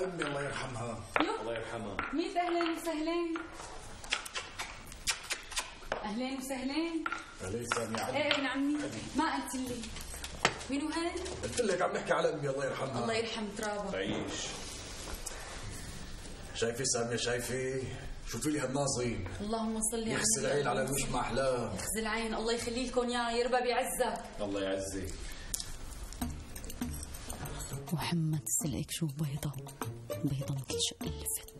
على امي الله يرحمها. الله يرحمها. ميت اهلين وسهلين. اهلين وسهلين. اهلين سامي عمي. ايه ابن عمي ما قلت لي مينو هاد؟ قلت لك عم نحكي على امي الله يرحمها. الله يرحم ترابها. تعيش. شايفه سامية شايفه؟ شوفي لي هالناظرين. اللهم صل على يخزي العين على الوجه ما احلاه. يخزي العين الله يخلي لكم اياه يربى بعزك. الله يعزك. محمد سلقك شوف بيضة بيضة مثل شق اللفت.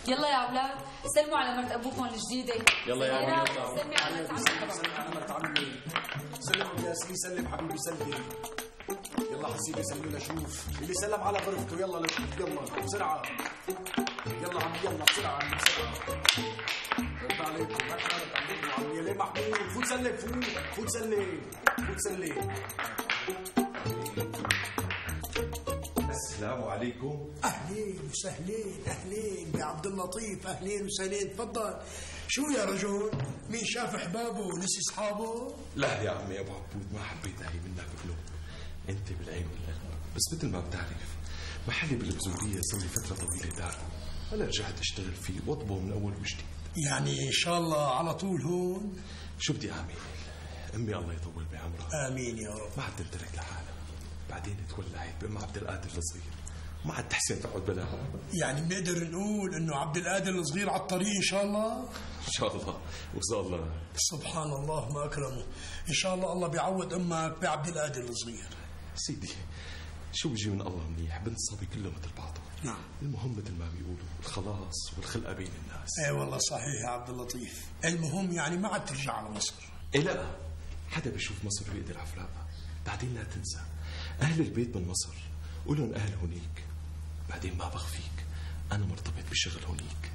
يلا يا اولاد سلموا على مرت ابوكم الجديده. يلا يا عمي يلا. سلمي على مرت عمي. سلم على مرت عمي. سلم ابو ياسين سلم حبيبي سلم. يلا حسيبي سلمي لشوف اللي سلم على غرفته. يلا لشوف يلا بسرعه. يلا عمي يلا بسرعه عمي بسرعه. رد عليكم ما حرام عندكم عمي. ليه محمود فوت سلم فوت سلم فوت سلم. السلام عليكم. اهلين وسهلين. اهلين يا عبد اللطيف. اهلين وسهلين. تفضل. شو يا رجل؟ مين شاف احبابه ونسي اصحابه؟ لا يا عمي ابو عبود ما حبيت اهي منك بقلوب. انت بالعين والقلب. بس مثل ما بتعرف محلي بالبزورية صار لي فترة طويلة دار. انا رجعت اشتغل فيه واطبه من اول وجديد. يعني ان شاء الله على طول هون؟ شو بدي اعمل؟ امي الله يطول بعمرها امين يا رب. ما عاد تنترك لحالها. بعدين تولعت بام عبد القادر الصغير ما عاد تحسن تقعد بلاها. يعني بنقدر نقول انه عبد القادر الصغير على الطريق ان شاء الله؟ ان شاء الله وصل الله. سبحان الله ما اكرمه. ان شاء الله الله بيعوض امك بعبد القادر الصغير. سيدي شو بيجي من الله منيح. بنت صبي كله مثل بعضه. نعم. المهم مثل ما بيقولوا الخلاص والخلقه بين الناس. اي والله صحيح يا عبد اللطيف. المهم يعني ما عاد ترجع على مصر. إيه لا حدا بيشوف مصر بيقدر عفراقها. بعدين لا تنسى أهل البيت من مصر قولن أهل هونيك. بعدين ما بخفيك أنا مرتبط بشغل هونيك.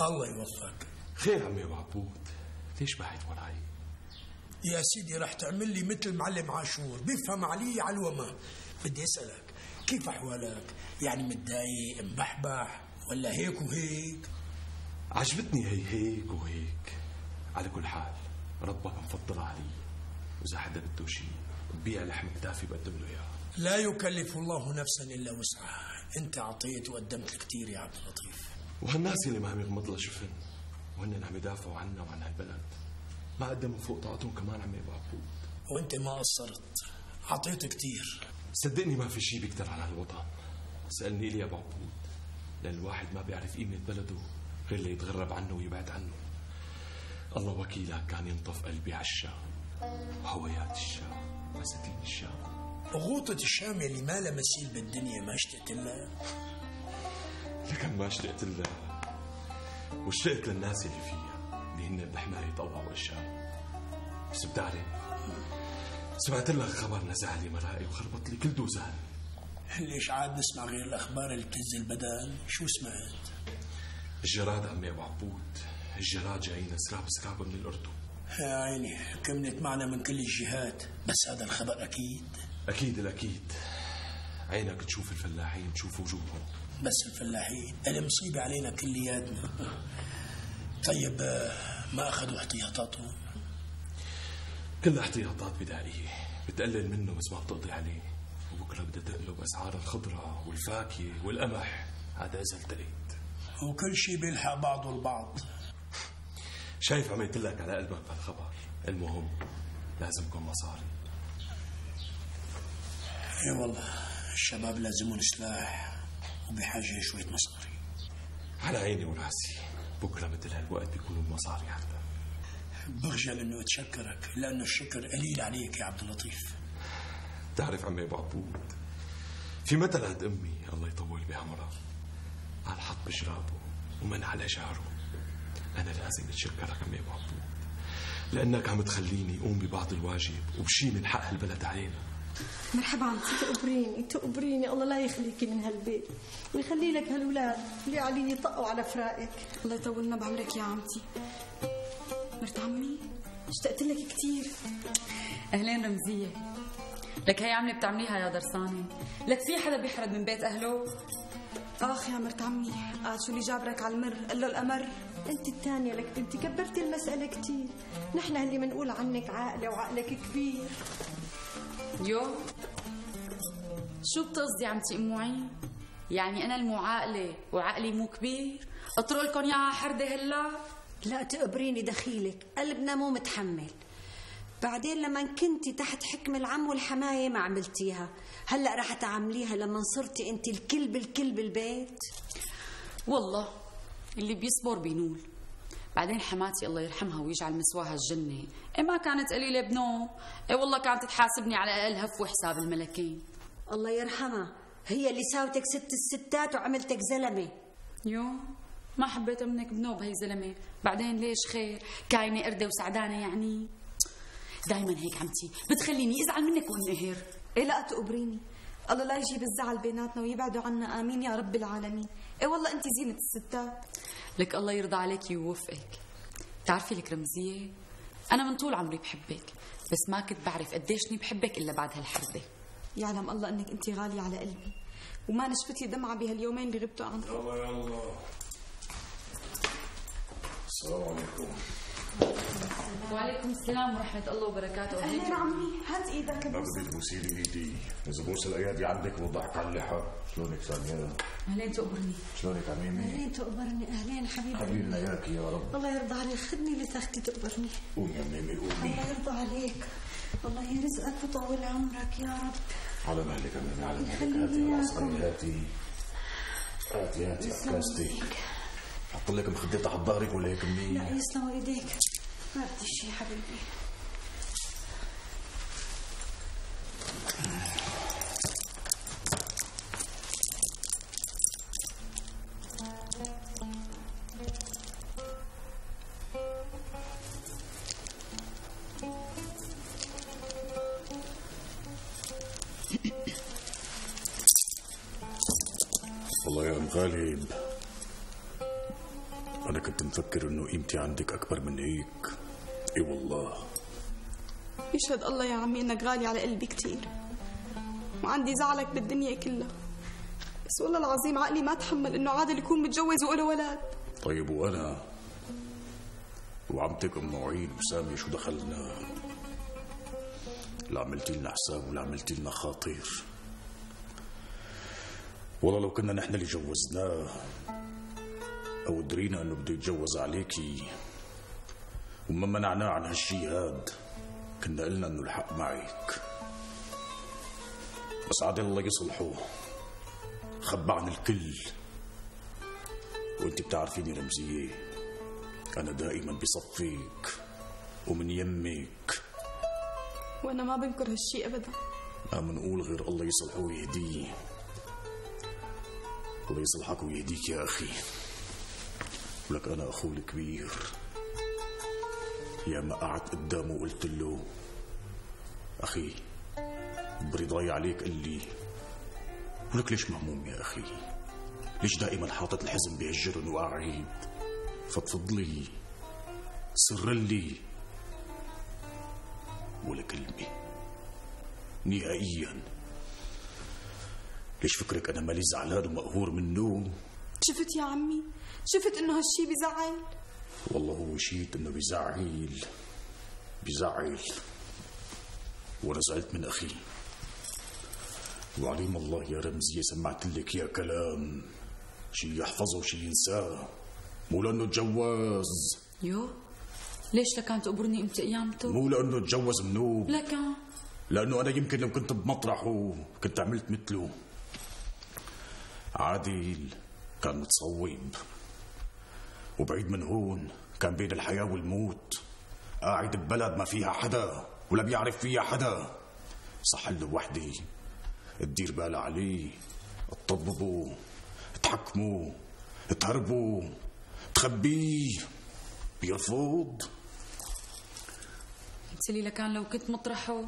الله يوفقك. خير عمي أبو عبود ليش بعد وراي؟ يا سيدي رح تعمل لي مثل معلم عاشور بيفهم علي على الوما. بدي اسالك كيف احوالك؟ يعني متضايق مبحبح ولا هيك وهيك؟ عجبتني هيك وهيك. على كل حال ربك مفضل علي واذا حدا بده شيء ببيع لحم كتافي بقدم له اياه. لا يكلف الله نفسا الا وسعها. انت اعطيت وقدمت كثير يا عبد اللطيف. وهالناس اللي ما عم يغمض لها شفن وهن عم يدافعوا عنا وعن هالبلد ما قدموا فوق طاقتهم كمان عمي ابو عبود. وانت ما قصرت اعطيت كثير. صدقني ما في شيء بيقدر على هالوطن. سألني لي يا ابو عبود لان الواحد ما بيعرف قيمة بلده غير اللي يتغرب عنه ويبعد عنه. الله وكيلك كان ينطف قلبي على الشام. هويات الشام بساتين الشام. غوطة الشام اللي ما لها مثيل بالدنيا ما اشتقت لها؟ لكن ما اشتقت لها واشتقت للناس اللي فيها اللي هن بحماية الله والشام. بس بتعرف سمعت لك خبر نزع لي مرائي وخربط لي كل دوزان. ليش عاد نسمع غير الاخبار اللي بتهز البدن؟ شو سمعت؟ الجراد عمي ابو عبود. الجراد جايين سراب من الاردن. يا عيني كمنت معنا من كل الجهات. بس هذا الخبر اكيد. اكيد الاكيد. عينك تشوف الفلاحين تشوف وجوههم. بس الفلاحين المصيبة علينا كلياتنا. طيب ما اخذوا احتياطاتهم؟ كل احتياطات بدائية بتقلل منه بس ما بتقضي عليه. وبكره بدها تقلب اسعار الخضرة والفاكهة والقمح. هذا اذا التقيت. وكل شيء بيلحق بعضه البعض. شايف عملت لك على قلبك بهالخبر. المهم لازمكم مصاري. اي والله الشباب لازمون سلاح وبحاجة شوية مصاري. على عيني وراسي. بكره مثل هالوقت بيكونوا المصاري حتى. بخجل انه اتشكرك لانه الشكر قليل عليك يا عبد اللطيف. تعرف عمي ابو عبود في مثل عند امي الله يطول بعمرها قال حط بجرابه ومن على جاره. انا لازم اتشكرك عمي ابو عبود لانك عم تخليني اقوم ببعض الواجب وبشي من حق البلد علينا. مرحبا عمتي. تقبريني الله لا يخليكي من هالبيت ويخلي لك هالولاد اللي قاعدين يطقوا على فراقك. الله يطولنا بعمرك يا عمتي. مرت عمي اشتقت لك كثير. اهلين رمزيه. لك هي عملة بتعمليها يا درسانة. لك في حدا بيحرد من بيت أهله؟ آخ يا مرت عمي، قال شو اللي جابرك على المر؟ قال له الأمر. انت الثانية لك بنتي كبرتي المسألة كتير. نحن اللي منقول عنك عاقلة وعقلك كبير. يو شو بتقصدي عمتي ام معين؟ يعني انا المعاقله وعقلي مو كبير؟ اطرق لكم اياها حرده هلا؟ لا تقبريني دخيلك، قلبنا مو متحمل. بعدين لما كنتي تحت حكم العم والحماية ما عملتيها، هلأ رح تعمليها لما صرتي انت الكل بالبيت. والله اللي بيصبر بينول. بعدين حماتي الله يرحمها ويجعل مسواها الجنة، ما كانت قليلة بنو، والله كانت تحاسبني على أقل هف وحساب الملكين. الله يرحمها، هي اللي ساوتك ست الستات وعملتك زلمة. يو ما حبيت منك بنو بهي زلمة. بعدين ليش خير؟ كاينة قردة وسعدانة يعني. دايما هيك عمتي بتخليني ازعل منك وانقهر. إيه لا تقبريني، الله لا يجيب الزعل بيناتنا ويبعدوا عنا، آمين يا رب العالمين. إيه والله أنت زينة الستات. لك الله يرضى عليك ويوفقك. تعرفي لك رمزية، أنا من طول عمري بحبك، بس ما كنت بعرف قديشني بحبك إلا بعد هالحردة. يعلم الله أنك أنت غالية على قلبي، وما نشفتي دمعة بهاليومين اللي غبتوا عنك. يلا السلام عليكم. وعليكم السلام ورحمة الله وبركاته. أهلين عمي، هات إيدك. ما بدي تبوسي لي ايدي، اذا بوس الايادي عندك بوضعك على اللحى. شلونك سامية؟ أهلين تقبرني. شلونك عميمي؟ اهلين تقبرني، اهلين حبيبي. حبيبنا اياك يا رب. الله يرضى عليك، خدني لتختي تقبرني. قومي يا عميمي قومي. الله يرضى عليك، الله يرزقك ويطول عمرك يا رب. على مهلك يا عميمي، على مهلك. هاتي يا عصري، هاتي عكاستي. حط لك مخدة تحت ظهرك ولا هيك منيح؟ لا يسلموا ايديك، ما بدي شيء حبيبي. والله يا ام غالب، أنا كنت مفكر إنه قيمتي عندك أكبر من هيك. إي والله. يشهد الله يا عمي إنك غالي على قلبي كتير، وعندي زعلك بالدنيا كلها، بس والله العظيم عقلي ما تحمل إنه عادل يكون متجوز وله ولد. طيب وأنا وعمتك أم معين وسامية شو دخلنا؟ لا عملتي لنا حساب ولا عملتي لنا خاطر. والله لو كنا نحن اللي جوزناه أو درينا أنه بده يتجوز عليكي وما منعناه عن هالشي هاد، كنا قلنا أنه الحق معك. بس عاد الله يصلحه، خبى عن الكل. وانت بتعرفيني رمزية، أنا دائما بصفيك ومن يمك، وأنا ما بنكر هالشي أبدا. ما منقول غير الله يصلحه ويهديه. الله يصلحك ويهديك يا أخي. ولك أنا أخوه الكبير، يا ما قعدت قدامه وقلت له أخي برضاي عليك، قال لي ولك ليش مهموم يا أخي؟ ليش دائما حاطط الحزن بهالجرن وقاعد؟ فضفض لي، سر لي، ولا كلمة نهائيا. ليش فكرك أنا مالي زعلان ومقهور منه؟ شفت يا عمي، شفت إنه هالشي بزعل. والله هو شيت إنه بزعل، وأنا زعلت من أخي. وعليم الله يا رمزية سمعت لك يا كلام شي يحفظه وشي ينساه، مو لأنه تجوز. يو ليش لكان تقبرني امتى ايامته؟ مو لأنه تجوز منوب، لكان لأنه أنا يمكن لو كنت بمطرحه كنت عملت مثله. عادل كان متصوب، وبعيد من هون كان بين الحياة والموت، قاعد ببلد ما فيها حدا ولا بيعرف فيها حدا، صح له وحدي تدير بالها عليه، تطببه، تحكمه، تهربه، تخبيه، بيرفض. قلت لي لكان لو كنت مطرحه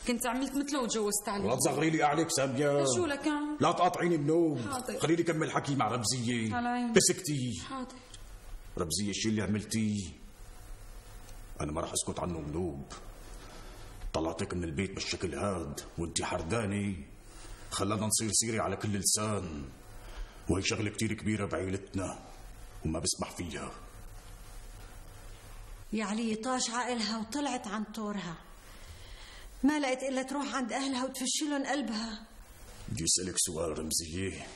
كنت عملت مثله وتجوزت عليه. لا تصغري لي عليك سامية. شو لكان؟ لا تقاطعيني بنوم. حاضر. خليني كمل حكي مع رمزية. على عيني. بسكتي. حاضر. رمزية الشيء اللي عملتيه أنا ما راح أسكت عنه بنوب. طلعتك من البيت بالشكل هاد وانتي حرداني خلانا نصير سيري على كل لسان، وهي شغلة كتير كبيرة بعيلتنا وما بسمح فيها. يا علي طاش عقلها وطلعت عن طورها، ما لقيت إلا تروح عند أهلها وتفشلن قلبها. بدي أسألك سؤال رمزية،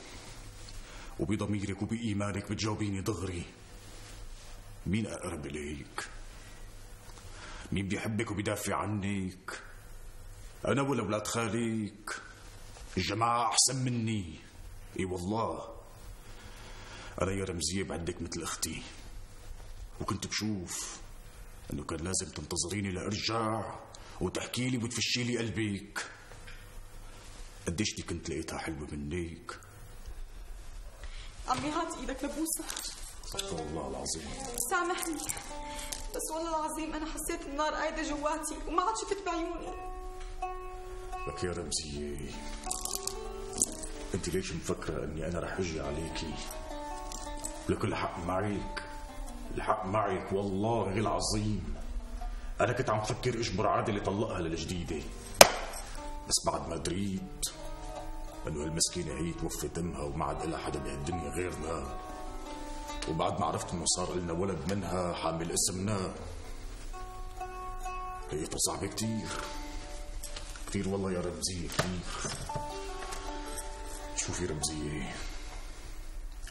وبضميرك وبإيمانك بتجاوبيني دغري. مين أقرب إليك؟ مين بيحبك وبيدافع عنك؟ أنا ولا أولاد خاليك؟ الجماعة أحسن مني. إي والله أنا يا رمزية بعدك مثل أختي، وكنت بشوف أنه كان لازم تنتظريني لأرجع وتحكي لي وتفشي لي قلبك. قديش دي كنت لقيتها حلوة منك. عمي هات ايدك لبوسة. استغفر الله العظيم. سامحني، بس والله العظيم أنا حسيت النار قايدة جواتي وما عاد شفت بعيوني. لك يا رمزية، انت ليش مفكرة اني انا رح اجي عليكي؟ لك الحق معك، الحق معك والله العظيم. انا كنت عم فكر اجبر عادل يطلقها للجديدة، بس بعد ما دريت انه المسكينة هي توفت امها وما عاد لها حدا بهالدنيا غيرنا، وبعد ما عرفت انه صار لنا ولد منها حامل اسمنا، لقيتها صعبة كتير كتير والله يا رمزية كتير. شوفي رمزية،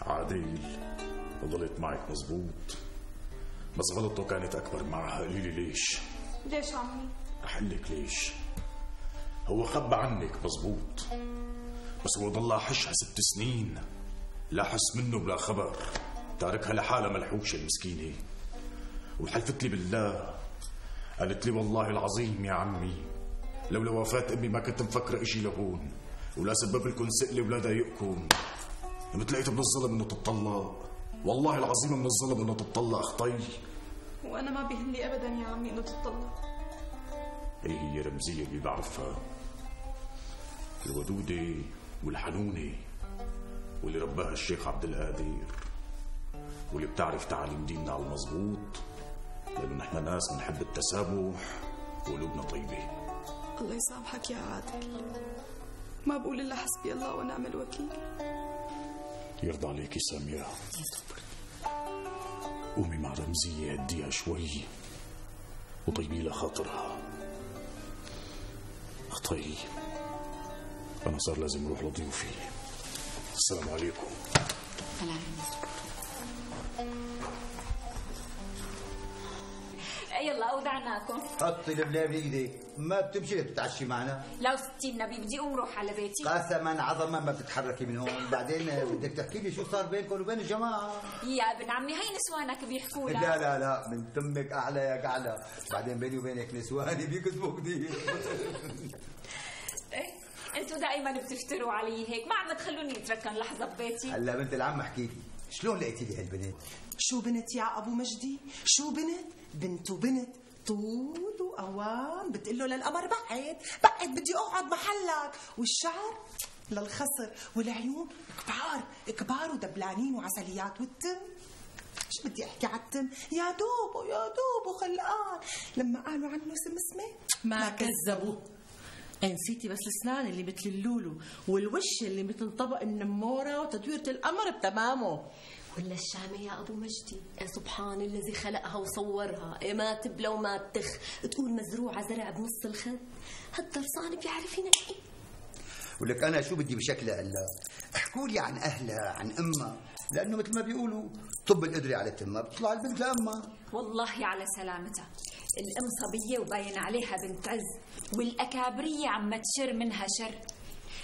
عادل غلط معك مزبوط، بس غلطه كانت أكبر معها. قولي لي ليش؟ ليش عمي؟ رح لك ليش. هو خبى عنك مزبوط، بس هو ضل حشها 6 سنين، لا حس منه بلا خبر، تاركها لحالها ملحوشة المسكينة. وحلفت لي بالله، قالت لي والله العظيم يا عمي لولا وفاة امي ما كنت مفكرة اشي لهون، ولا سبب لكم سئلي ولا ضايقكم. مثل لقيت من الظلم انه تطلق، والله العظيم من الظلم انه تطلق اختي. وانا ما بيهمني ابدا يا عمي انه تطلق. ايه هي رمزية اللي بعرفها، الودودة والحنونة، واللي رباها الشيخ عبد القادر، واللي بتعرف تعاليم ديننا على المضبوط، لأنه نحن ناس بنحب التسامح وقلوبنا طيبة. الله يسامحك يا عادل، ما بقول إلا حسبي الله ونعم الوكيل. يرضى عليكي سامية، قومي مع رمزية هديها شوي وطيبي لها خاطرها. اختي أنا صار لازم أروح لضيوفي. السلام عليكم. يلا أودعناكم. حطي الملاية بإيدك، ما بتمشي تتعشي معنا. لو 60 نبي بدي أقوم روح على بيتي. قسما عظما ما بتتحركي من هون، بعدين بدك تحكي لي شو صار بينكم وبين الجماعة. يا ابن عمي هي نسوانك بيحكوا لك. لا لا لا، من تمك أعلى يا أعلى، بعدين بيني وبينك نسواني بيكذبوا كثير. انتوا دائما بتفتروا علي هيك، ما عم تخلوني اتركن لحظة ببيتي. هلا بنت العم احكي لي، شلون لقيتي لي هالبنت؟ شو بنت يا ابو مجدي؟ شو بنت؟ بنت وبنت، طول وقوام، بتقول له للقمر بعد بعد بدي اقعد محلك، والشعر للخصر، والعيون كبار كبار ودبلانين وعسليات، والتم شو بدي احكي على التم؟ يا دوب يا دوب خلقان، لما قالوا عنه سمسمه ما كذبوا. نسيتي بس الاسنان اللي مثل اللولو، والوش اللي مثل طبق النموره، وتدويره القمر بتمامه. ولا الشامة يا أبو مجدي، سبحان الذي خلقها وصورها، ما تبلى وما تخ، تقول مزروعة زرع بنص الخد. هالدرسان بيعرف ينقي. ولك أنا شو بدي بشكلها هلا؟ احكوا لي عن أهلها، عن أمها، لأنه مثل ما بيقولوا طب القدرة على تمها بتطلع البنت لأمها. والله على سلامتها، الأم صبية وباين عليها بنت عز، والأكابرية عم تشر منها شر.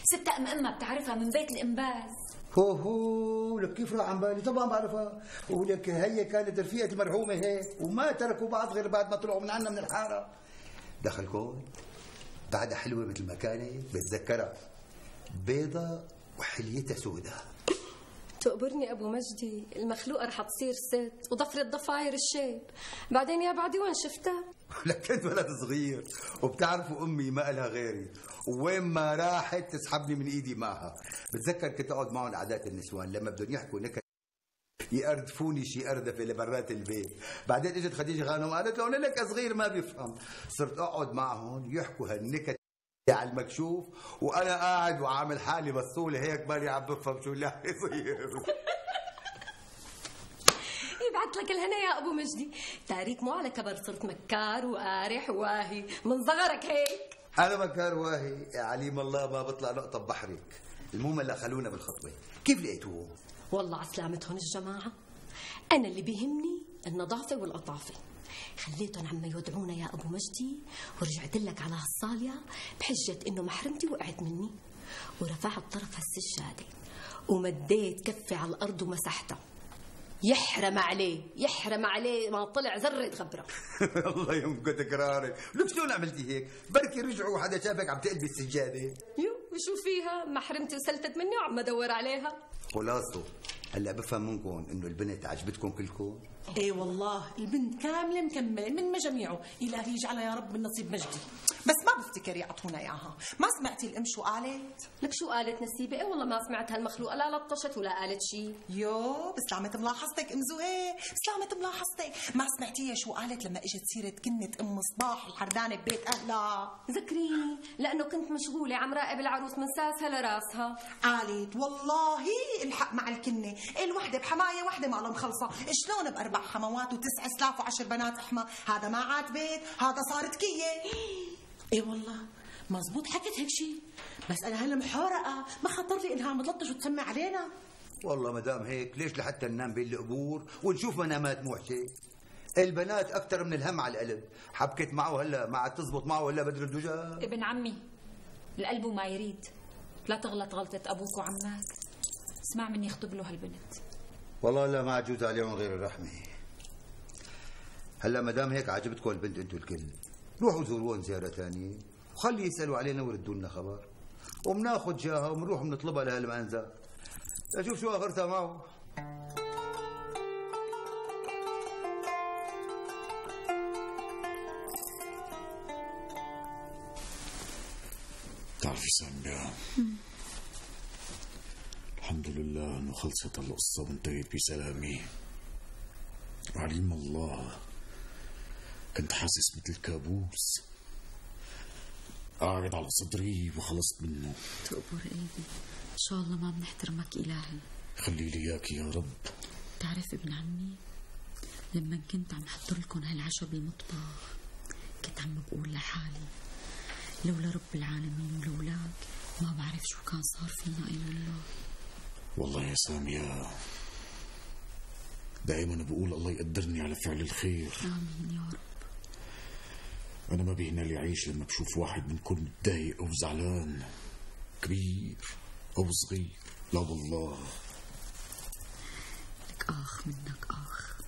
ستة أمها بتعرفها من بيت الإنباز. هو لك كيف راح عن بالي؟ طبعا بعرفها، ولك هي كانت رفيقة المرحومة هيك، وما تركوا بعض غير بعد ما طلعوا من عنا من الحارة. دخلكم بعدها حلوة مثل ما كانت، بتذكرها بيضة وحليتها سوداء. تقبرني أبو مجدي، المخلوقة رح تصير ست وضفرة ضفاير الشيب. بعدين يا بعدي وين شفتها؟ لك كنت ولد صغير، وبتعرفوا أمي ما إلها غيري، وين ما راحت تسحبني من إيدي معها. بتذكر كنت أقعد معهم عادات النسوان لما بدهم يحكوا نكت يقردفوني شي قردفه لبرات البيت. بعدين اجت خديجه خانم قالت له لك صغير ما بيفهم. صرت اقعد معهم يحكوا هالنكت على المكشوف وانا قاعد وعامل حالي بصولي هيك بالي عم بفهم شو اللي عم يصير. يبعث لك الهنا يا ابو مجدي، تاريك مو على كبر صرت مكار وقارح واهي من صغرك هيك. انا مكار واهي يا عليم الله ما بطلع نقطه ببحرك. المهم هلا خلونا بالخطبه، كيف لقيتوهم؟ والله عسلامتهم الجماعه، انا اللي بيهمني النظافه والقطافه. خليتهم عم يودعونا يا ابو مجدي ورجعت لك على هالصاليه بحجه انه محرمتي وقعت مني، ورفعت طرف هالسجاده ومديت كفي على الارض ومسحتها. يحرم عليه ما طلع ذره غبره. الله يمكن تكراري، لك شلون عملتي هيك؟ بركي رجعوا وحدا شافك عم تقلبي السجاده. يو وشو فيها؟ محرمتي وسلتت مني وعم ادور عليها. خلاصه هلا بفهم منكم انه البنت عجبتكم كلكم؟ ايه والله البنت كامله مكمله من مجاميعه، الهي يجعلها يا رب من نصيب مجدي. بس ما بفتكر يعطونا اياها. ما سمعتي الام شو قالت؟ لك شو قالت نسيبه؟ ايه والله ما سمعت هالمخلوقه، لا لطشت ولا قالت شيء. يو بسلامة ملاحظتك ام زهير، بسلامة ملاحظتك. ما سمعتيها شو قالت لما اجت سيره كنه ام صباح الحردانه ببيت اهلها؟ ذكريني لانه كنت مشغوله عم راقب العروس من ساسها لراسها. قالت والله الحق مع الكنه، الوحده بحمايه وحده ما مخلصه، شلون ب4 حموات و9 سلاف و10 بنات حما؟ هذا ما عاد بيت، هذا صارت كيه. ايه والله مزبوط حكت هيك شيء، بس انا هلا محورقه ما خطر لي انها عم تلطش وتسمع علينا. والله ما دام هيك ليش لحتى ننام بين القبور ونشوف منامات موحشه؟ البنات اكثر من الهم على القلب. حبكت معه هلا ما عاد تزبط معه ولا بدر الدجى. ابن عمي القلب ما يريد، لا تغلط غلطه ابوك وعمك. اسمع مني اخطب له هالبنت. والله لا ما عجوز عليهم غير الرحمه. هلا ما دام هيك عجبتكم البنت انتم الكل، روحوا زوروهم زياره ثانيه وخلي يسالوا علينا ويردوا لنا خبر، وبناخذ جاها وبنروح بنطلبها لهالمنزل لشوف شو اخرتها معه. بتعرفي سامية، الحمد لله انه خلصت القصة وانتهت بسلامي. عليم الله كنت حاسس مثل كابوس قاعد على صدري وخلصت منه. تقبر قلبي، ان شاء الله ما بنحترمك الهي. خلي لي اياك يا رب. بتعرف ابن عمي لما كنت عم حضر لكم هالعشاء بالمطبخ كنت عم بقول لحالي لولا رب العالمين ولولاك ما بعرف شو كان صار فينا. اي والله. والله يا سامية دائما بقول الله يقدرني على فعل الخير. امين يا رب. انا ما بيهنا لي عيش لما بشوف واحد منكم متضايق او زعلان، كبير او صغير. لا والله لك اخ منك اخ،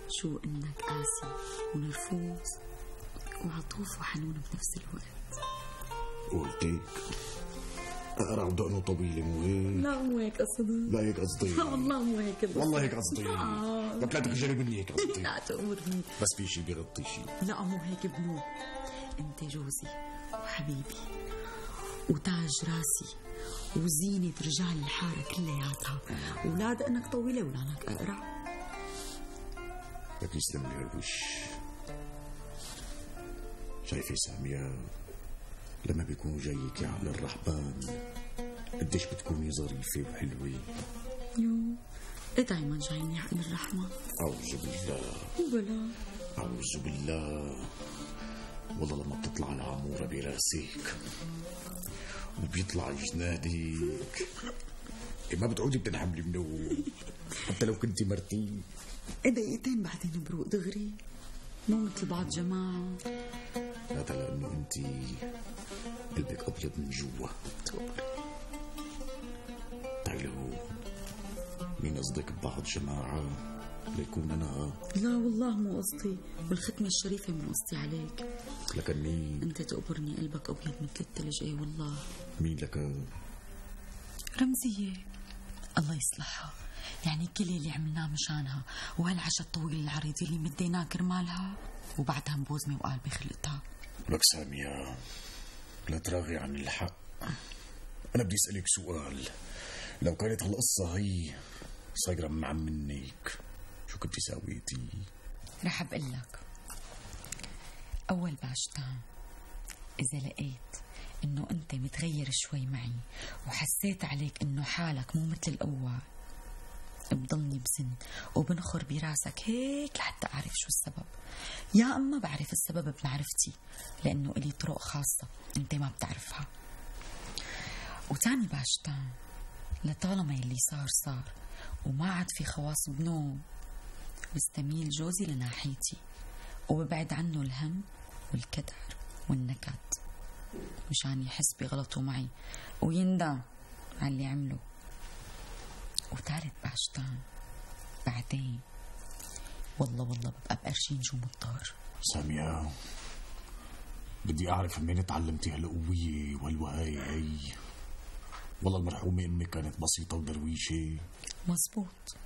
شو انك قاسي ونرفوز وعطوف وحنون بنفس الوقت. قلتيك اقرع ودقنه طويله مو هيك؟ لا مو هيك قصدي. لا هيك قصدي. والله مو هيك قصدي. والله هيك قصدي. لك لا تخجلي مني هيك قصدي. لا تأمرني. بس في شيء بيغطي شيء. لا مو هيك ابنو، انت جوزي وحبيبي وتاج راسي وزينة رجال الحارة كلياتها، ولا دقنك طويلة ولا لك أقرع. لك يسلم لي هالوش. شايفة سامية لما بيكون جايك يا عبد الرحمن قديش بتكوني ظريفة وحلوة. يو ايه دايما جايني عقل الرحمة؟ أعوذ بالله. بلا أعوذ بالله. والله لما بتطلع العمورة براسك وبيطلع جنادك ما بتعودي بتنحملي منه حتى لو كنتي مرتي. دقيقتين بعدين بروق دغري، مو مثل بعض جماعة. هذا لأنه أنت قلبك أبيض من جوا. تعالي لهون. مين قصدك ببعض جماعة ليكون أنا؟ لا والله مو قصدي، والختمة الشريفة مو قصدي عليك. لكن مين؟ أنت تقبرني قلبك أبيض مثل الثلج. أي والله. مين لك؟ رمزية الله يصلحها، يعني كل اللي عملناه مشانها وهالعشاء الطويل العريض اللي مديناه كرمالها وبعدها مبوزمة وقال بخلقتها. لك سامية لا تراغي عن الحق. أنا بدي أسألك سؤال، لو كانت هالقصة هي صايرة من عم منك شو كنتي ساويتي؟ رح بقول لك. أول باشتان إذا لقيت إنه أنت متغير شوي معي وحسيت عليك إنه حالك مو مثل الأول، بضلني بزن وبنخر براسك هيك لحتى أعرف شو السبب، يا أما بعرف السبب بمعرفتي لأنه إلي طرق خاصة أنت ما بتعرفها. وتاني باشتان لطالما يلي صار وما عاد في خواص بنوم، بستميل جوزي لناحيتي وببعد عنه الهم والكدر والنكد مشان يحس بغلطه معي ويندم على اللي عمله. وثالث باشتان بعدين والله ببقى بقرشين جو مضطر. سامية بدي أعرف منين تعلمتي هالقوية وهالوهاية هي؟ والله المرحومة أمي كانت بسيطة ودرويشة. مزبوط،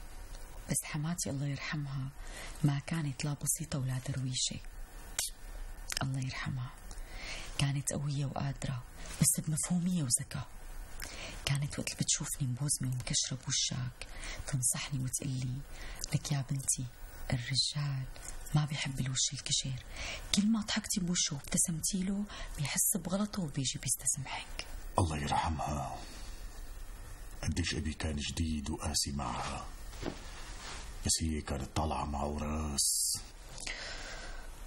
بس حماتي الله يرحمها ما كانت لا بسيطة ولا درويشة. الله يرحمها كانت قوية وقادرة بس بمفهومية وذكاء. كانت وقت بتشوفني مبوزمة ومكشرة بوشك تنصحني وتقلي لك يا بنتي الرجال ما بيحب الوش الكشير، كل ما ضحكتي بوشه وابتسمتي له بيحس بغلطه وبيجي بيستسمحك. الله يرحمها قديش أبي كان جديد وقاسي معها، بس هي كانت طالعة معه راس.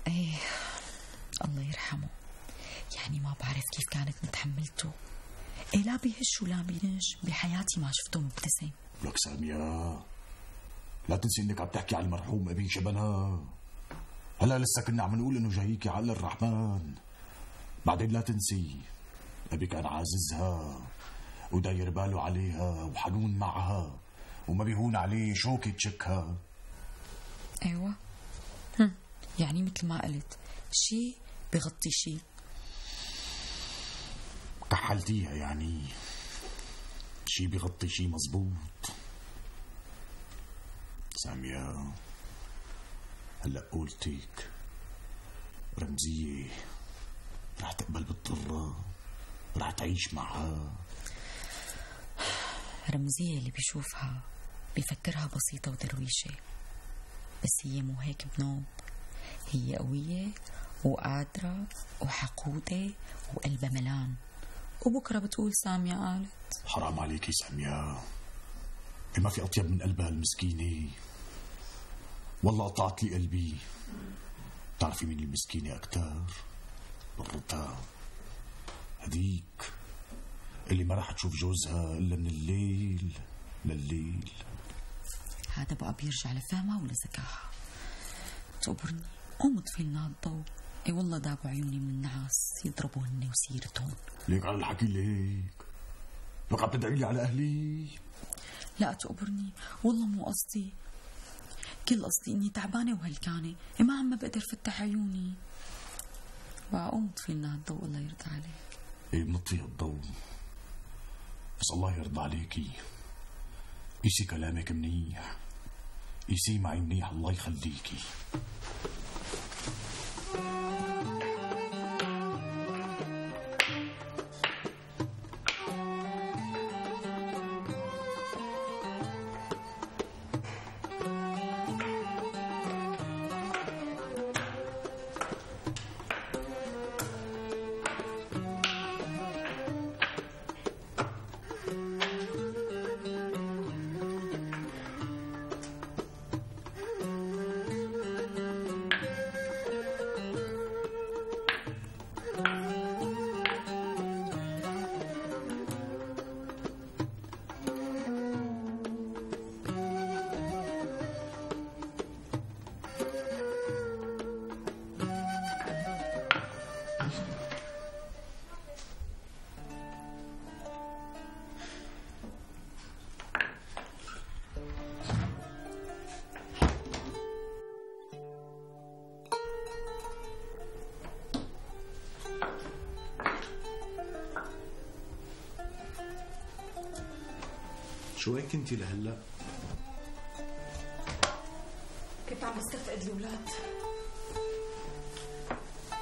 ايه الله يرحمه، يعني ما بعرف كيف كانت متحملته. إيه لا بيهش ولا بينش، بحياتي ما شفته مبتسم. لك سامية لا تنسي انك عم تحكي على المرحوم ابي شبنها. هلا لسه كنا عم نقول انه جاييكي عقل الرحمن. بعدين لا تنسي ابي كان عاززها وداير باله عليها وحنون معها وما بيهون عليه شوكة تشكها. ايوه يعني مثل ما قلت شي بغطي شي. كحلتيها يعني شي بغطي شي. مزبوط سامية. هلأ قولتك رمزية رح تقبل بالضرة، رح تعيش معها. رمزية اللي بيشوفها بيفكرها بسيطة ودرويشة، بس هي مو هيك بنوم. هي قوية وقادرة وحقودة وقلبها ملان. وبكرة بتقول سامية قالت. حرام عليكي سامية، ما في أطيب من قلبها المسكينة. والله قطعت لي قلبي. تعرفي مين المسكينة أكتر؟ ضرتها هديك اللي ما راح تشوف جوزها إلا من الليل لليل. هذا بقى بيرجع لفهمها ولذكاها. تقبرني قوم اطفي لنا الضوء. اي والله دابوا عيوني من النعاس يضربوا هن وسيرتهم. ليك على الحكي ليك؟ لك عم تدعي لي على أهلي؟ لا تقبرني والله مو قصدي. كل قصدي اني تعبانة وهلكانة ما عم بقدر فتح عيوني. بقى قوم اطفي لنا الضوء الله يرضى عليك. ايه بنطفي الضوء بس الله يرضى عليكي قيسي كلامك منيح، قيسي معي منيح الله يخليكي. شو وين كنتي لهلا؟ كنت عم بستفقد الأولاد.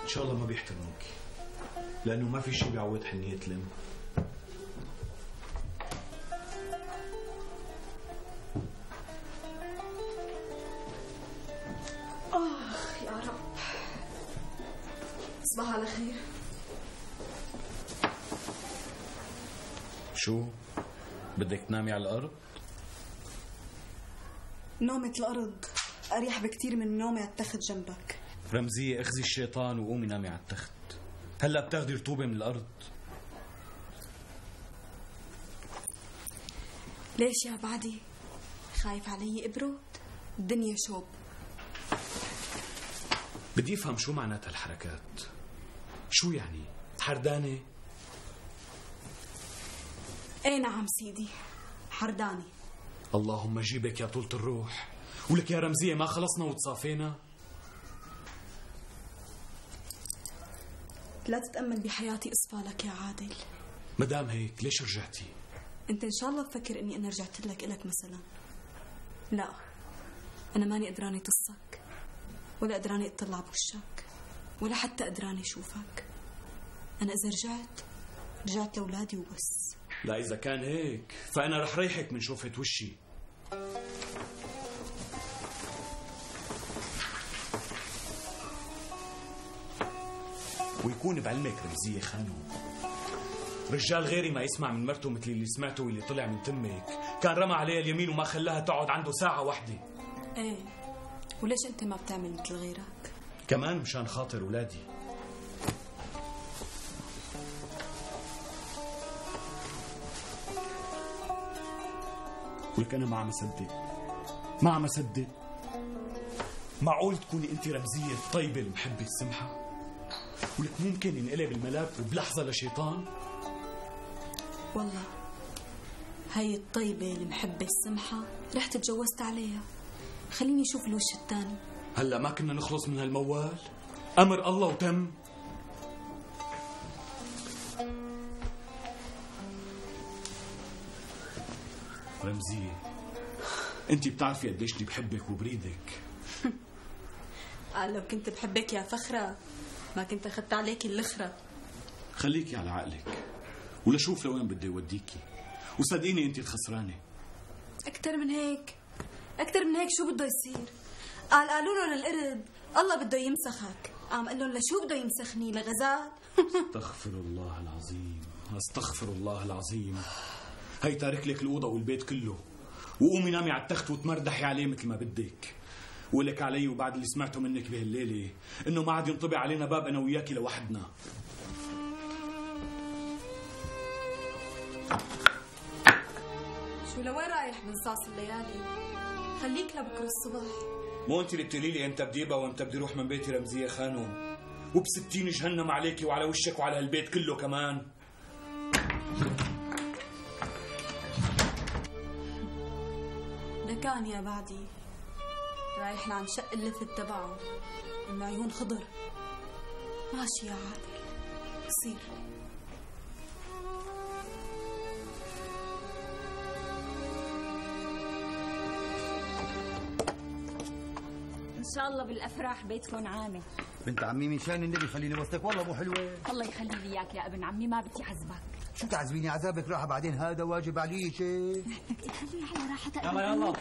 إن شاء الله ما بيحترموك، لأنه ما في شيء بيعوض حنية الأم. تصبح على خير. شو؟ بدك تنامي على الأرض؟ نومة الأرض أريح بكتير من نومي على التخت جنبك. رمزية اخذي الشيطان وقومي نامي على التخت. هلا بتاخدي رطوبة من الأرض. ليش يا بعدي؟ خايف علي ابرد؟ الدنيا شوب. بدي افهم شو معناتها الحركات. شو يعني؟ حردانة؟ ايه نعم سيدي، حرداني. اللهم جيبك يا طولة الروح. ولك يا رمزية ما خلصنا وتصافينا؟ لا تتأمل بحياتي اصفالك يا عادل. مدام هيك ليش رجعتي؟ انت ان شاء الله تفكر اني انا رجعت لك الك مثلا. لا، انا ماني قدراني تصك، ولا قدراني اطلع بوشك، ولا حتى قدراني اشوفك. انا اذا رجعت لاولادي وبس. لا اذا كان هيك فانا رح ريحك من شوفة وشي. ويكون بعلمك رمزية خانو، رجال غيري ما يسمع من مرته مثل اللي سمعته واللي طلع من تمك. كان رمى عليها اليمين وما خلاها تقعد عنده ساعة واحدة. ايه، وليش انت ما بتعمل مثل غيرك؟ كمان مشان خاطر ولادي. ولك انا ما عم اصدق. معقول تكوني انت رمزية الطيبة المحبة السمحة؟ ولك ممكن ينقلب الملاك بلحظة لشيطان؟ والله هاي الطيبة المحبة السمحة رحت تجوزت عليها. خليني اشوف الوش الثاني. هلا ما كنا نخلص من هالموال؟ امر الله وتم. رمزية انت بتعرفي قديش اني بحبك وبريدك. قال لو كنت بحبك يا فخرة ما كنت اخذت عليكي الاخرة. خليكي على عقلك ولشوف لوين بدي يوديكي، وصدقيني انت الخسرانة. اكتر من هيك شو بده يصير؟ قالوا له للقرد الله بده يمسخك، قام قال لهم لشو بده يمسخني؟ لغزال؟ استغفر الله العظيم. هي تارك لك الأوضة والبيت كله، وقومي نامي على التخت وتمردحي عليه مثل ما بدك. ولك علي وبعد اللي سمعته منك بهالليلة انه ما عاد ينطبع علينا باب انا وياكي لوحدنا. شو لوين رايح بنصاص الليالي؟ خليك لبكره الصبح. مو انت اللي بتقولي لي امتى بدي ابقى وامتى بدي اروح من بيتي رمزية خانم؟ وب60 جهنم عليكي وعلى وشك وعلى هالبيت كله كمان. لكان يا بعدي رايح لعن شق اللفت تبعه انه عيون خضر. ماشي يا عادل، بصير. ان شاء الله بالافراح بيتكم عامل. بنت عمي من شان النبي خليني وسطك، والله مو حلوه. الله يخلي لي اياك يا ابن عمي، ما بدي اعذبك. شو تعذبيني؟ عذابك راحه بعدين، هذا واجب عليك. خليها على راحتها. يلا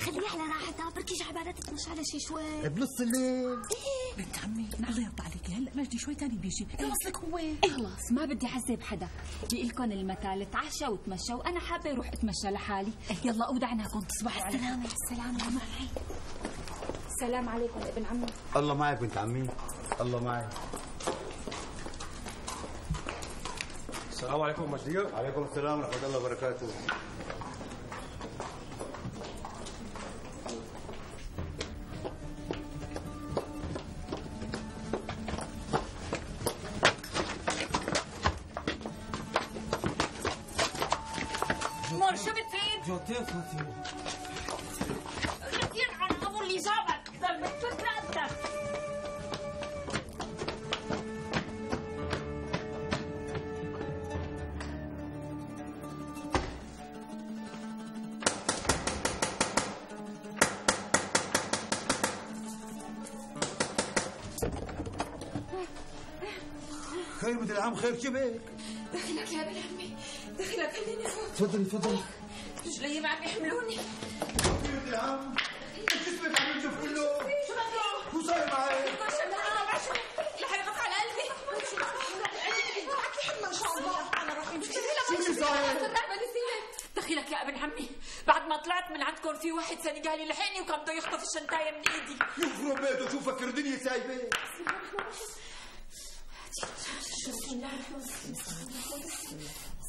خليها على راحتها، بركي جعبانة تتمشى على شي شوي بنص الليل. بنت عمي الله يرضى عليكي، هلا مجدي شوي تاني بيجي يوصلك هو. خلاص ما بدي اعذب حدا. بقلكن المثال تعشى وتمشى، وانا حابه اروح اتمشى لحالي. يلا اودعناكم، تصبحوا على خير. السلامة معي. السلام عليكم ابن عمي. الله معك بنت عمي، الله معك. السلام عليكم مجدي. وعليكم السلام ورحمة الله وبركاته. مور شو بتريد؟ جوتين فاتيمة. كثير عن ابو اللي جابك، ضل بتفك رقبتك. خير بنت العم، خير شبك؟ دخلك يا ابن عمي، دخلك خليني افوت. تفضلي. رجلي ما عم يحملوني. بنت العم، جسمك عم ينجف كله. شو بدك؟ شو صاير معي؟ رح يقف على قلبي. ما شاء الله انا راح امشي. شو صاير؟ دخيلك يا ابن عمي، بعد ما طلعت من عندكم في واحد سنغالي لحقني وكان بده يخطف الشنطايه من ايدي. يخرب بيته، شو فكر دنيا سايبه؟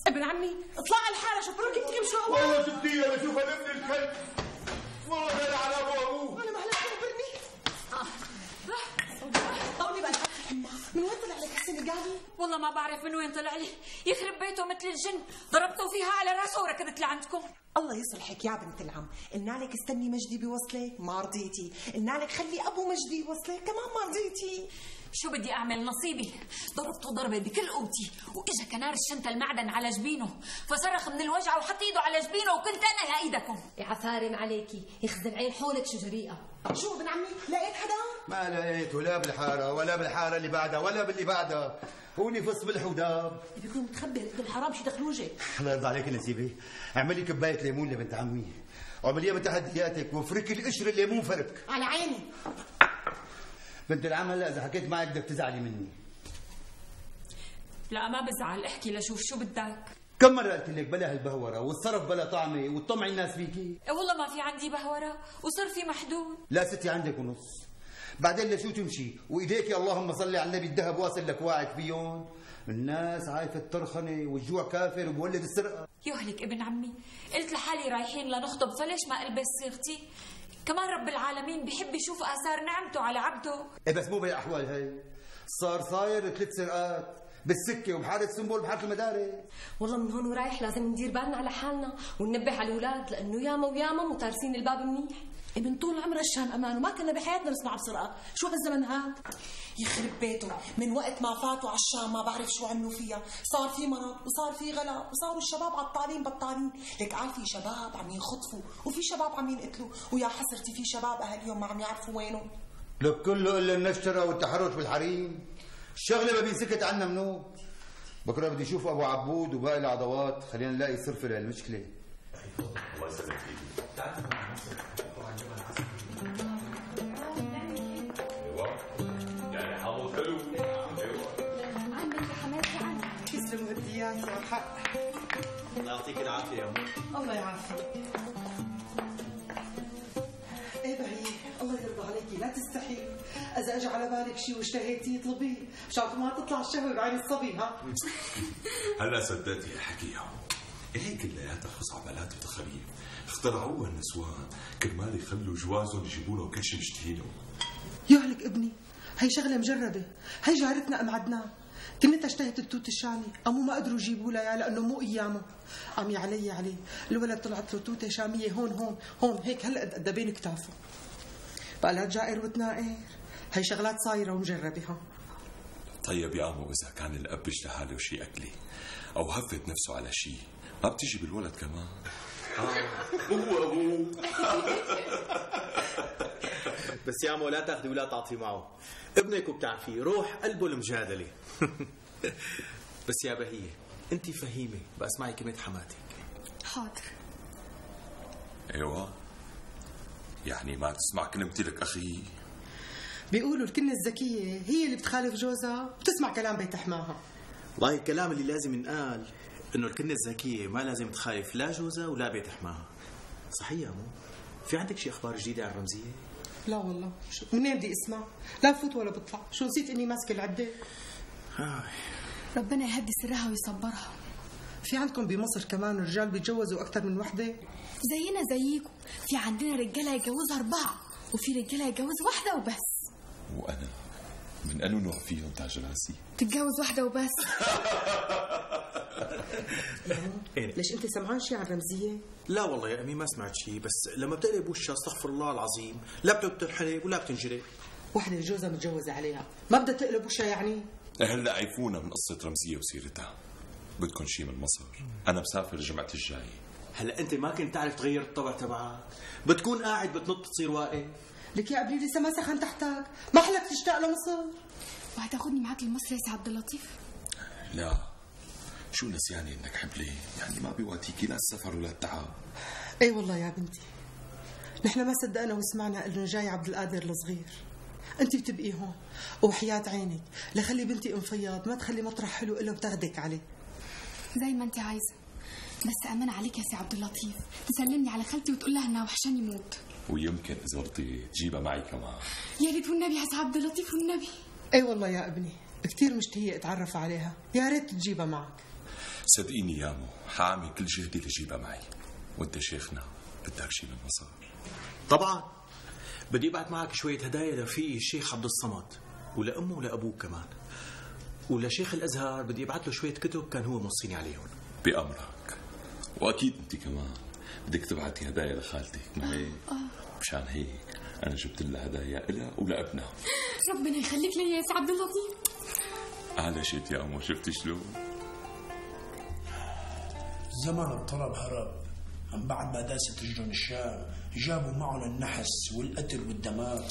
ابن عمي اطلع على الحاره، شو بروك تمشوا. والله شفتيها بشوفها ابن الكلب، والله غير على ابوه. انا ما هلا تخبرني. طولي بالك من وين طلع لك السنغالي؟ والله ما بعرف من وين طلع لي، يخرب بيته مثل الجن، ضربته فيها على راسه وركضت لعندكم. الله يصلحك يا بنت العم، قلنا لك استني مجدي بوصله ما رضيتي، قلنا لك خلي ابو مجدي يوصله كمان ما رضيتي. شو بدي اعمل؟ نصيبي ضربته ضربه بكل قوتي، واجا كنار الشنطه المعدن على جبينه، فصرخ من الوجع وحط ايده على جبينه وكنت انا لايدكم. يا عفارم عليكي، يخزن عين حولك شو جريئه. شو ابن عمي لقيت حدا؟ ما لقيته لا بالحاره ولا بالحاره اللي بعدها ولا باللي بعدها، هو نفس بالحداب. بيكون متخبي ابن الحرام شي دخلوجك. الله يرضى عليك نسيبي، اعملي كبايه ليمون لبنت عمي وعمليها بتحدياتك وفركي القشر الليمون فرك. على عيني. بنت العم هلا اذا حكيت معك بدك تزعلي مني. لا ما بزعل، احكي لشوف شو بدك. كم مرة قلت لك بلا هالبهورة والصرف بلا طعمة وتطمع الناس فيكي؟ والله ما في عندي بهورة وصار في محدود. لا ستي عندك ونص. بعدين لشو تمشي وايديك اللهم صل على النبي الذهب واصل لك واعد فيهم؟ الناس عايفة الترخنة والجوع كافر وبولد السرقة. يهلك ابن عمي، قلت لحالي رايحين لنخطب فليش ما البس صيغتي؟ كمان رب العالمين بيحب يشوف آثار نعمته على عبده. ايه بس مو بهالاحوال هي، صاير 3 سرقات بالسكه وبحاره سنبل بحاره المدارس. والله من هون ورايح لازم ندير بالنا على حالنا وننبه على الاولاد، لانه ياما وياما متارسين الباب منيح. من طول عمر الشام امان وما كنا بحياتنا نسمع بسرقه، شو هالزمن هاد؟ يخرب بيته، من وقت ما فاتوا على الشام ما بعرف شو عملوا فيها، صار في مرض وصار في غلا وصاروا الشباب عطالين بطالين، لك قال في شباب عم ينخطفوا وفي شباب عم ينقتلوا، ويا حسرتي في شباب اهاليهم ما عم يعرفوا وينهم. لك كله الا النشتره والتحرش بالحريم، الشغله ما بينسكت عنا منوب. بكره بدي اشوف ابو عبود وباقي العضوات، خلينا نلاقي صرف لهالمشكله. الله يسلمك فيك. يعني حاضر حلو. عندك يا حماتي عندك. تسلموا ايديات يا حق. الله يعطيك العافيه يا أم. الله يعافيك. ايه بهي الله يرضى عليكي لا تستحي، اذا اجى على بالك شيء واشتهيتيه اطلبيه مشان ما تطلع الشهوه بعين الصبي. ها هلا صدقتي الحكي هي كلياتها خزعبلات وتخاريف اخترعوها النسوان كرمال يخلوا جوازهم يجيبوا لهم كل شيء مشتهينه. يهلك ابني، هي شغله مجربه، هي جارتنا ام عدنان كنتها اشتهت التوت الشامي، قاموا ما قدروا يجيبوا لها لانه مو ايامه. قام يا علي الولد طلعت له توته شاميه هون هيك هلا قد بين كتافه. بقى لا جائر وتنائر، هي شغلات صايره ومجربه. ها طيب يا عمو اذا كان الاب اشتهى له شيء اكلي او هفت نفسه على شيء ما بتيجي بالولد كمان؟ هو ابوه. بس يا عمو لا تاخذي ولا تعطي معه، ابنك وبتعرفيه روح قلبه المجادله. بس يا بهيه انت فهيمه بقى اسمعي كلمه حماتك. حاضر. ايوه يعني ما تسمع كلمتي لك اخي؟ بيقولوا الكنه الذكيه هي اللي بتخالف جوزها وتسمع كلام بيت حماها. والله الكلام اللي لازم ينقال انه الكنه الذكيه ما لازم تخالف لا جوزها ولا بيت حماها. صحيح يا مو؟ في عندك شي اخبار جديده عن رمزيه؟ لا والله، منين بدي اسمع؟ لا بفوت ولا بطلع، شو نسيت اني ماسكه العده؟ ربنا يهدي سرها ويصبرها. في عندكم بمصر كمان رجال بيتجوزوا اكثر من وحده؟ زينا زيكم، في عندنا رجاله يتجوزوا 4 وفي رجاله يتجوز 1 وبس. وانا من انو نوع فيهم تاج راسي؟ تتجوز 1 وبس. ليش انت سمعان شيء عن رمزيه؟ لا والله يا امي ما سمعت شيء، بس لما بتقلب وشها استغفر الله العظيم لا بتنحلب ولا بتنجري. وحده جوزها متجوزه عليها ما بدها تقلب وشها يعني؟ هلا عيفونا من قصه رمزيه وسيرتها. بدكم شيء من مصر؟ انا مسافر الجمعه الجاي. هلا انت ما كنت تعرف تغير الطبع تبعك، بتكون قاعد بتنط تصير واقف. لك يا ابني لسه ما سخن تحتك، ما حلك تشتاق لمصر؟ وهتاخدني معاك لمصر يا سي عبد اللطيف؟ لا شو نسياني انك حبلي، يعني ما بيواتيكي لا السفر ولا التعب. اي والله يا بنتي، نحن ما صدقنا وسمعنا انه جاي عبد القادر الصغير. انت بتبقي هون وحياة عينك لخلي بنتي ام فياض ما تخلي مطرح حلو الا وتاخدك عليه. زي ما انت عايزه، بس امن عليك يا سي عبد اللطيف تسلمني على خالتي وتقول لها انها وحشاني موت. ويمكن اذا رضيت تجيبها معي كمان. يا ريت والنبي يا سي عبد اللطيف والنبي. اي والله يا ابني كثير مشتهيه اتعرف عليها، يا ريت تجيبها معك. صدقيني يا مو حاعمل كل جهدي لجيبها معي، وانت شيخنا بدك شي من المصاري. طبعا بدي ابعت معك شويه هدايا لرفيقي الشيخ عبد الصمد ولامه ولابوه كمان، ولشيخ الازهر بدي ابعت له شويه كتب كان هو موصيني عليهم. بأمرك، واكيد انت كمان بدك تبعتي هدايا لخالتك، ما هيك؟ مشان هيك انا جبت لها هدايا إلها ولابنها. ربنا يخليك لي يا سي عبد اللطيف. على شيت يا امو، شفتي شلون؟ زمان الطلب هرب، من بعد ما داست تجرن الشام جابوا معهم النحس والقتل والدمار.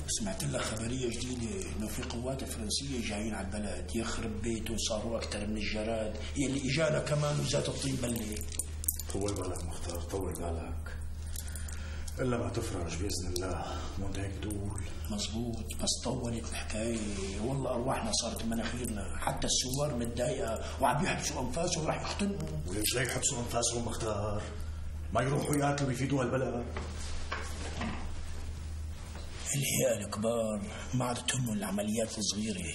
سمعت لك خبرية جديدة انه في قوات فرنسية جايين على البلد، يخرب بيته صاروا اكثر من الجراد يلي اجانا كمان وزات الطين بلة. طول بالك مختار، طول بالك الا ما تفرج باذن الله، مو هيك تقول. مزبوط، بس طولت الحكاية والله ارواحنا صارت مناخيرنا، حتى السوار متضايقة وعم يحبسوا انفاسهم وراح يختنقوا. وليش لا يحبسوا انفاسهم مختار؟ ما يروحوا يقاتلوا ويفيدوا هالبلد؟ الهيئة الكبار ما عاد تهمهم العمليات الصغيرة،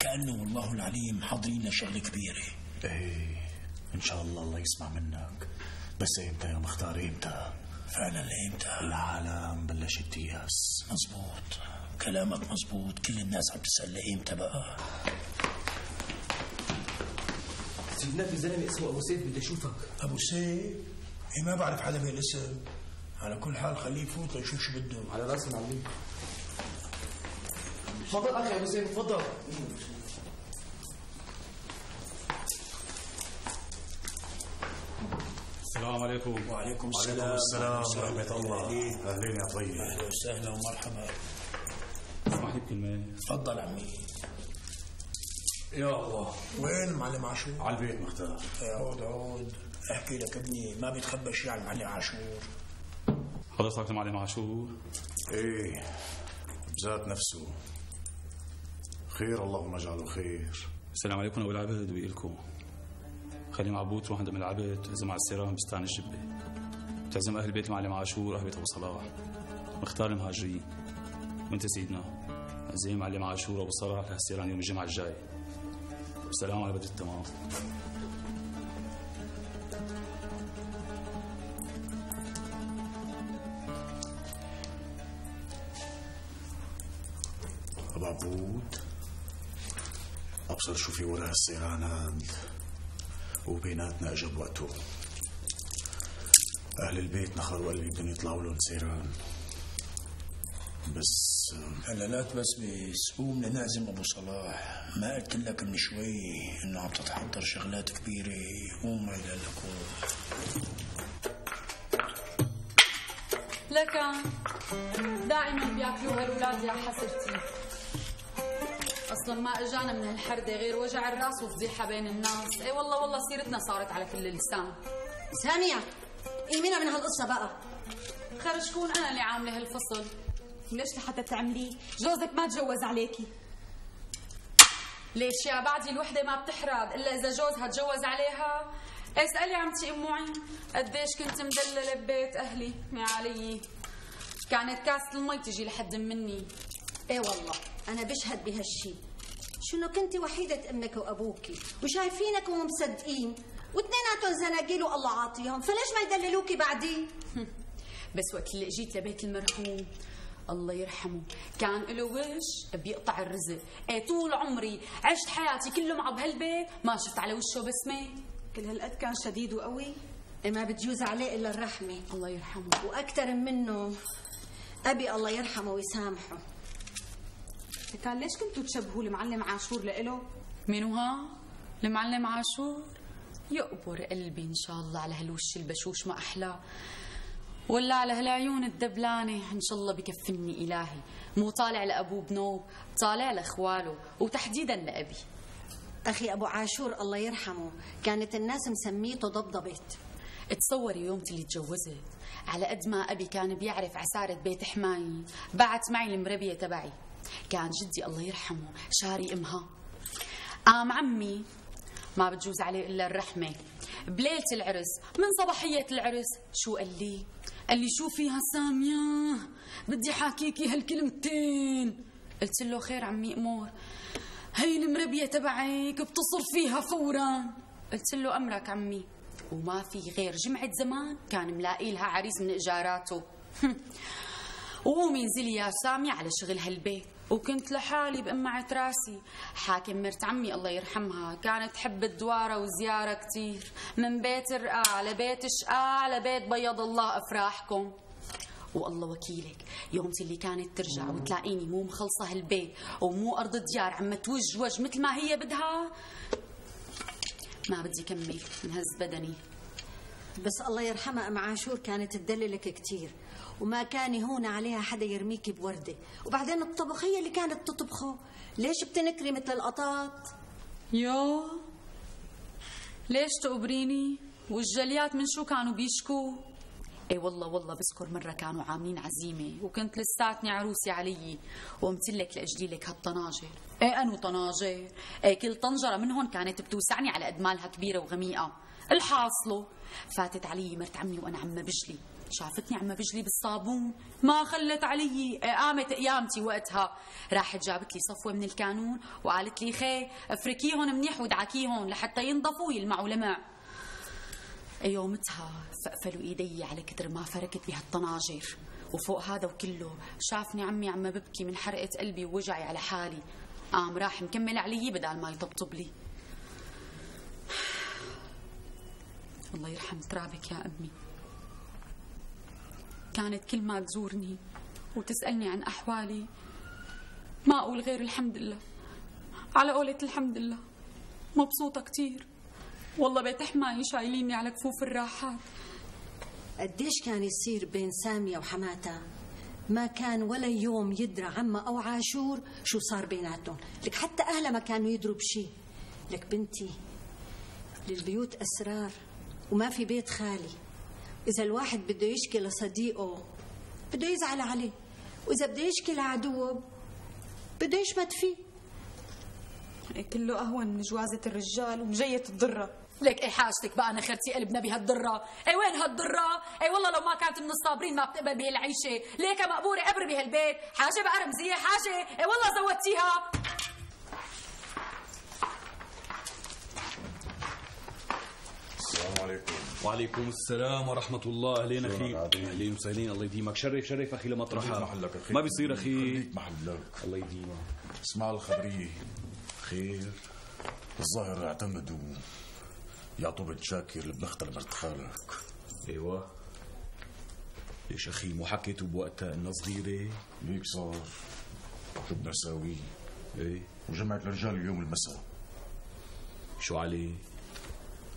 كأنه والله العليم حاضرين لشغلة كبيرة. ايه ان شاء الله الله يسمع منك، بس امتى يا مختار امتى؟ فعلا امتى؟ العالم بلشت تيأس. مزبوط كلامك مزبوط، كل الناس عم تسأل امتى بقى. سيدنا في زلمه اسمه ابو سيف بدي اشوفك. ابو سيف؟ إيه ما بعرف حدا بهالاسم. على كل حال خليه يفوت لنشوف شو بده. على راسي معلم. تفضل اخي ابو سيف تفضل. السلام عليكم. وعليكم السلام. وعليكم السلام ورحمة الله. أهلين يا طيب. أهلا وسهلا ومرحبا. اسمح لي بكلمة. تفضل عمي. يا الله. وين المعلم عاشور؟ على البيت مختار. عود عود، احكي لك ابني ما بيتخبى شيء على المعلم عاشور. حضرتك المعلم عاشور؟ ايه بذات نفسه. خير اللهم اجعله خير. السلام عليكم ابو العبد وإلكم. خلي معبود تروح عند ام العبد تعزم على السيران بستان الجبه، تعزم اهل بيت المعلم عاشور واهل بيت ابو صلاح، مختار المهاجرين، وانت سيدنا عزيم معلم عاشور وابو صلاح لهالسيران يوم الجمعه الجاي. والسلام على بدر التمام. ابو عبود ابصر شو في وراء السيرانات وبيناتنا اجى بوقته. اهل البيت نخروا قلبي بدهم يطلعوا لهم سيران، بس هلا لا تبسبس، قوم لنعزم ابو صلاح. ما قلت لك من شوي انه عم تتحضر شغلات كبيره؟ قوم ما لك لكن دائما بياكلوها الاولاد يا حسرتي. اصلا ما اجانا من هالحرده غير وجع الراس وفضيحه بين الناس. اي والله سيرتنا صارت على كل لسان. ساميه ايمينا من هالقصه بقى. خير شكون انا اللي عامله هالفصل؟ ليش لحتى تعمليه؟ جوزك ما تجوز عليكي. ليش يا بعدي الوحده ما بتحرد الا اذا جوزها تجوز عليها؟ اسالي عمتي ام معين قديش كنت مدلله ببيت اهلي يا علي. كانت كاسه المي تجي لحد مني. ايه والله انا بشهد بهالشي. شو انه كنتي وحيده امك وابوكي وشايفينك ومصدقين، واثنيناتهم زناقيل والله عاطيهم، فليش ما يدللوكي بعدين؟ بس وقت اللي اجيت لبيت المرحوم الله يرحمه كان له وش بيقطع الرزق. ايه طول عمري عشت حياتي كله معه بهالبيت ما شفت على وشه بسمه. كل هالقد كان شديد وقوي. إيه ما بتجوز عليه الا الرحمه. الله يرحمه. واكثر منه ابي الله يرحمه ويسامحه. كان ليش كنتوا تشبهوا المعلم عاشور لإله؟ مين ها؟ المعلم عاشور؟ يقبر قلبي ان شاء الله على هالوش البشوش ما احلاه، ولا على هالعيون الدبلانه ان شاء الله بكفني الهي. مو طالع لابوه بنوب، طالع لاخواله وتحديدا لابي. اخي ابو عاشور الله يرحمه كانت الناس مسميته ضبضبت. تصوري يوم اللي تجوزت على قد ما أبي كان بيعرف عسارة بيت حماي بعت معي المربية تبعي. كان جدي الله يرحمه شاري أمها. قام عمي ما بتجوز عليه إلا الرحمة بليلة العرس من صباحية العرس شو قال لي؟ قال لي شو فيها سامية بدي حاكيكي هالكلمتين. قلت له خير عمي أمور. هي المربية تبعك بتصر فيها فورا. قلت له أمرك عمي. وما في غير جمعة زمان كان ملاقي لها عريس من إجاراته. وقومي انزلي يا سامية على شغل هالبيت. وكنت لحالي بقمعة راسي. حاكم مرت عمي الله يرحمها كانت تحب الدوارة وزيارة كتير من بيت رقاع لبيت شقاع لبيت بيض الله أفراحكم. والله وكيلك يوم اللي كانت ترجع وتلاقيني مو مخلصة هالبيت ومو أرض ديار عم توجوج مثل ما هي بدها ما بدي كمل انهز بدني. بس الله يرحمها أم عاشور كانت تدللك كتير وما كان يهون عليها حدا يرميك بوردة. وبعدين الطبخ هي اللي كانت تطبخه. ليش بتنكري مثل القطاط؟ يو ليش تقبريني؟ والجليات من شو كانوا بيشكوا؟ اي والله بذكر مرة كانوا عاملين عزيمة وكنت لساتني عروسي علي وقمتلك لأجلي لك هالطناجر. ايه أنو طناجر؟ ايه كل طنجرة منهم كانت بتوسعني على قد مالها كبيرة وغميقة. الحاصله فاتت علي مرت عمي وأنا عم بجلي شافتني عم بجلي بالصابون ما خلت علي. قامت قيامتي وقتها راحت جابت لي صفوة من الكانون وقالت لي خي افركيهم منيح ودعكيهم لحتى ينضفوا ويلمعوا لمع. يومتها فقفلوا ايدي على كتر ما فركت بهالطناجر. وفوق هذا وكله شافني عمي عم ببكي من حرقة قلبي ووجعي على حالي. قام راح مكمل علي بدل ما يطبطب لي. الله يرحم ترابك يا أمي. كانت كل ما تزورني وتسألني عن أحوالي ما أقول غير الحمد لله. على قولة الحمد لله مبسوطة كتير. والله بيت حماي شايليني على كفوف الراحات. قديش كان يصير بين سامية وحماتها ما كان ولا يوم يدرى عما أو عاشور شو صار بيناتهم. لك حتى أهلها ما كانوا يدروا بشي. لك بنتي للبيوت أسرار وما في بيت خالي. إذا الواحد بده يشكي لصديقه بده يزعل عليه وإذا بده يشكي لعدوه بده يشمت فيه. كله أهون من جوازة الرجال ومجية الضرة. لك ايه حاجتك بقى نخرتي قلبنا بهالضرة؟ ايه وين هالضرة؟ ايه والله لو ما كانت من الصابرين ما بتقبل بهالعيشة. ليك مقبورة قبر بهالبيت حاجة بقى رمزية حاجة. ايه والله زودتيها. السلام عليكم. وعليكم السلام ورحمة الله. أهلين أخي. أهلين وسهلين. الله يديمك. شرف أخي لمطرحك. محلك أخي. ما بيصير أخي. خليك محلك. الله يديمك. اسمع الخبرية خير. الظاهر اعتمدوا يعطوا بنت شاكر اللي بنختها لمرت خالك. ايوه. ليش أخي مو حكيتوا بوقتها إنها صغيرة؟ ليك صار. شو بدنا نساوي؟ ايه. وجمعت الرجال اليوم المساء. شو عليه؟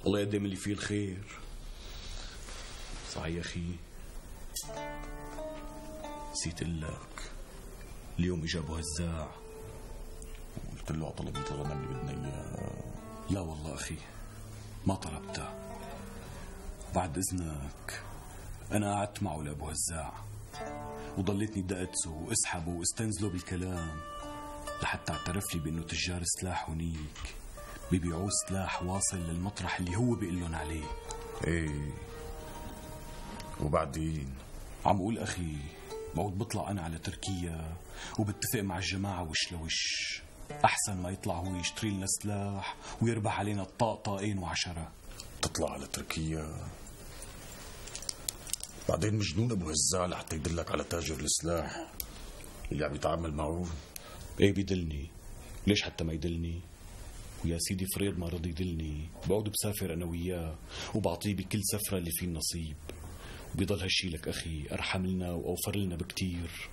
الله يقدم اللي فيه الخير. صحيح يا أخي نسيت لك اليوم إجا أبو هزاع قلت له طلبت الغنم اللي بدنا إياه. لا والله أخي ما طلبته. بعد إذنك أنا قعدت معه لأبو هزاع وضليتني دقته واسحبه واستنزله بالكلام لحتى اعترف لي بأنه تجار سلاح هنيك بيبيعوا سلاح واصل للمطرح اللي هو بيقول لهم عليه. ايه وبعدين عم اقول اخي بعود بطلع انا على تركيا وبتفق مع الجماعة وش لوش احسن ما يطلع هو يشتري لنا سلاح ويربح علينا طاقين وعشرة. تطلع على تركيا بعدين مجنون ابو هزاع لحتى يدلك على تاجر السلاح اللي عم يتعامل معه. ايه بيدلني. ليش حتى ما يدلني؟ ويا سيدي فريد ما رضي يدلني بعود بسافر انا وياه وبعطيه بكل سفرة اللي فيه النصيب. وبيضل هالشي لك اخي ارحم لنا واوفر لنا بكتير.